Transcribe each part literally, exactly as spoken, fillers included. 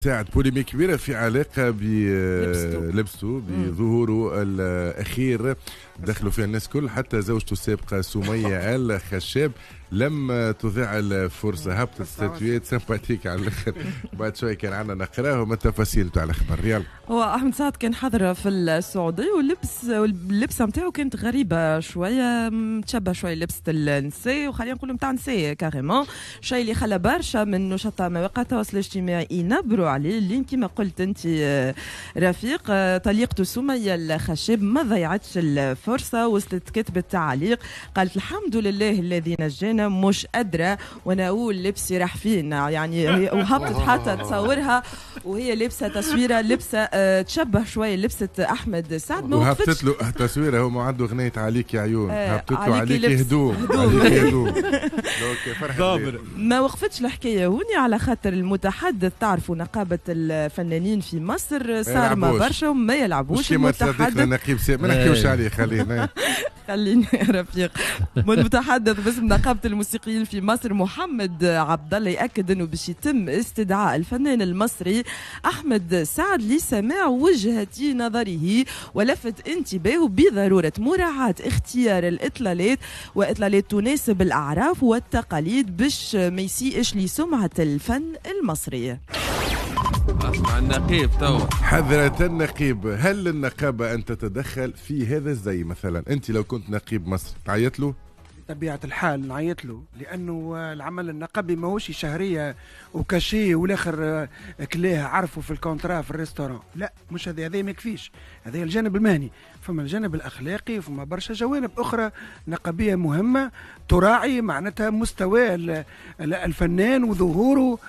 ساعد polémique كبيرة في علاقة بلبسته، بظهوره الأخير، دخلوا فيها الناس كل، حتى زوجته السابقة سمية الخشاب لم تضيع الفرصة، هبطت statut sympathique على الآخر. بعد شوي كان عندنا نقراهم التفاصيل تاع الأخبار. يلا. هو أحمد سعد كان حاضر في السعودية، واللبس واللبسة نتاعو كانت غريبة شوية، تشبه شوية لبسة النساء، وخلينا نقولوا نتاع نساء carrément، شيء اللي خلى برشا من نشطاء مواقع التواصل الاجتماعي ينبروا عليه. اللي كما قلت انت رفيق، طليقته سمية الخشاب ما ضيعتش الفرصة، وصلت كتبت تعليق قالت الحمد لله الذي نجانا، مش قادرة وانا اقول لبسي راح فين يعني، وهبطت حتى تصورها وهي لابسة تصويرة لبسة تشبه شوية لبسة أحمد سعد. ما وهبطت له تصويرة، هو ما عنده أغنية عليك يا عيون، هبطت له عليك هدوم، عليك هدوم. ما وقفتش الحكاية هوني، على خاطر المتحدث تعرفوا نقابة الفنانين في مصر صارمة برشا وما يلعبوش. المتحدث نقيب ما نحكيوش عليه، خلينا خلينا يا رفيق. المتحدث باسم نقابة الموسيقيين في مصر محمد عبد الله يأكد انه باش يتم استدعاء الفنان المصري احمد سعد لسماع وجهة نظره، ولفت انتباهه بضرورة مراعاة اختيار الإطلالات وإطلالات تناسب الأعراف والتقاليد باش ما يسيئش لسمعة الفن المصري. اسمع النقيب تو، حذرة النقيب، هل للنقابة أن تتدخل في هذا الزي مثلا؟ أنت لو كنت نقيب مصر تعيط له؟ بطبيعة الحال نعيط له، لأنه العمل النقابي ماهوش شهرية و cachet والآخر كلاه عرفه في ال contrat في ال restaurant، لا مش هذا، هذا ما يكفيش، هذا الجانب المهني، فما الجانب الأخلاقي وفما برشا جوانب أخرى نقابية مهمة تراعي معناتها مستوى الفنان وظهوره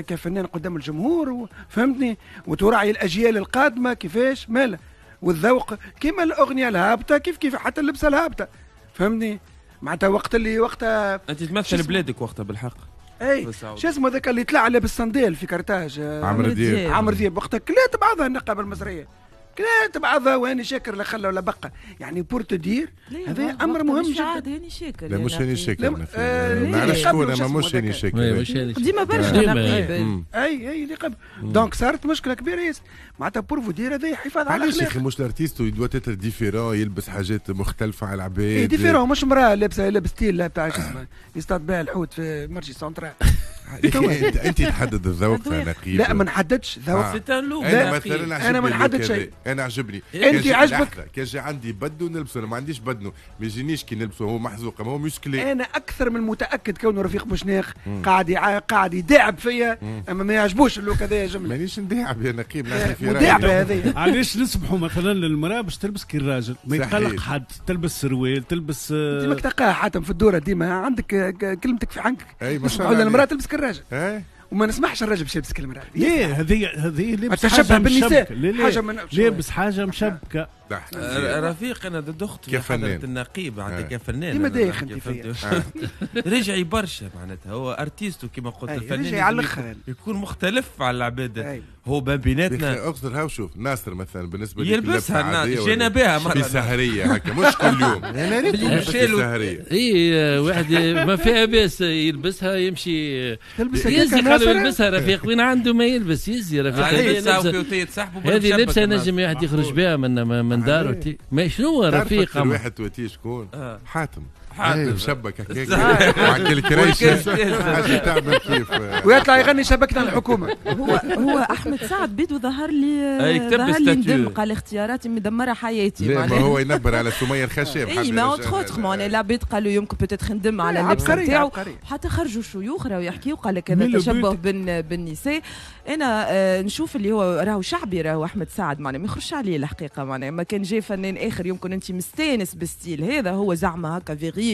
كفنان قدام الجمهور، فهمتني، وتراعي الأجيال القادمة كيفاش ماله والذوق، كيما الأغنية الهابطة كيف كيف حتى اللبسة الهابطة، فهمتني، معناتها وقت اللي وقتها انت تمثل بلادك وقتها بالحق. اي شو اسمه ذاك اللي طلع لابس صندال في كرتاج، عمرو دياب، عمرو دياب وقتها كلات بعضها النقابة المصرية، كلات بعضها وهاني شاكر لا خلى ولا بقى، يعني pour te dire هذا امر مهم جدا. هاني شاكر، لا مش هاني شاكر، ما نعرفش شكون، اما مش هاني شاكر ديما برشا نقيب. اي اي اللي قبل، donc صارت مشكلة كبيرة ياسر، معناتها pour vous dire هذا حفاظ على الاخلاق. علاش يا اخي مش ال artiste doit être différent، يلبس حاجات مختلفة على العباد؟ différent، مش مراة لابسه لابس style تاع شو اسمه يصطاد بها الحوت في marché central. انت تحدد الذوق يا نقيب؟ لا ما نحددش ذوق. انا مثلا انا ما نحدد شيء، انا عجبني، انت عجبك، كان جا عندي بدو نلبسه، انا ما عنديش بدنو، ما يجينيش كي نلبسه، هو محزوق، ما هو musclé. انا اكثر من متاكد كونه رفيق بوشناق قاعد قاعد يداعب فيا، اما ما يعجبوش ال look هذا يا جملة. مانيش نداعب يا نقيب، نعطي في رايي. مداعبه هذه. علاش نسمحوا مثلا للمراة باش تلبس كي الراجل، ما يتقلق حد، تلبس سروال، تلبس انت ماك تلقاها حاتم في الدورة ديما عندك كلمتك في حنك. اي ما شاء الله. المراة تلبس كالراجل، وما نسمحش الراجل باش يلبس كلمة. ليه هذه هذه لابس حاجة بالنساء، حاجة من لابس حاجة مشبكه. رفيق انا ضد اختي كفنان النقيب، عندك كفنان ديما دايخ انت فيا. رجعي برشا معناتها، هو artiste كما قلت، الفنان رجعي على الاخر يكون مختلف على العباد، هو بين بيناتنا. اقصر هاو شوف ناصر مثلا بالنسبة لي يلبسها جينا بها مرة في سهريه هكا مش كل يوم، في سهريه. اي واحد ما فيها باس يلبسها يمشي يلبسها، قالوا يلبسها رفيق وين عنده ما يلبس يزي رفيق. هذه لبسه نجم واحد يخرج بها من من داره. ما شنو رفيق واحد تواتي شكون؟ حاتم، حاتم مشبك هكاك وعكل الكريشه حاجة تعمل كيف ويطلع يغني شبكنا الحكومة. هو هو احمد سعد بيدو ظهر لي ظهر لي ندم، قال اختياراتي مدمرة حياتي. لا ما هو ينبر على سميه الخشاب. اي mais entre autres معناها العباد قالوا يمكن peut-être ندم على اللبس نتاعو، حتى خرجوا شيوخ راهو يحكيوا قال لك هذا تشبه بالنساء. انا نشوف اللي هو راهو شعبي، راهو احمد سعد معناها ما يخرجش عليه الحقيقة، معناها ما كان جاي فنان اخر يمكن انت مستانس بال style هذا، هو زعما هكا viril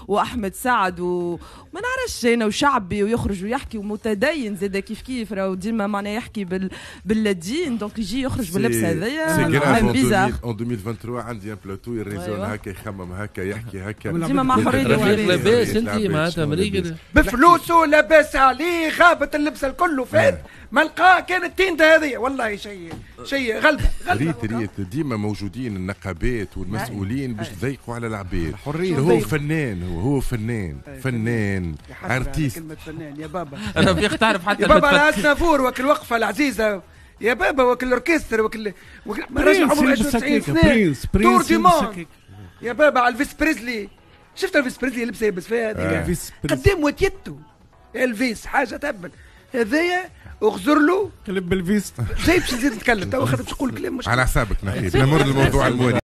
واحمد سعد وما نعرفش انا وشعبي ويخرج ويحكي ومتدين زاد كيف كيف، راهو ديما معناها يحكي بال بالدين، donc يجي يخرج باللبس هذايا. c'est grave en ألفين وثلاثة وعشرين عندي un plateau ي raisonne هكا، يخمم هكا، يحكي هكا، ديما مع حرية. رفيق لاباس انت معناتها مريقل بفلوسه لاباس عليه، غابت اللبسه الكل فات ما لقاه كانت التينده هذه، والله شيء شيء غلبه غلبه. ريت ريت ديما موجودين النقابات والمسؤولين باش يضيقوا على العباد، الحرية هو فنان، هو هو فنان، فنان artiste. كلمة فنان يا بابا. رفيق تعرف حتى يا بابا على أسنافور وكل الوقفة العزيزة يا بابا، وكل الاوركستر وكل راجل عمره واحد وتسعين سنة tour du monde يا بابا على الفيس بريزلي. شفت الفيس بريزلي لبسه يلبس فيها هذيك قدام وتيتو الفيس حاجة تهبل هذايا. اغزر له قلب بالفيس زي باش نزيد نتكلم تو خاطر باش نقول كلام مش على حسابك نحيب. نمر للموضوع الموالي.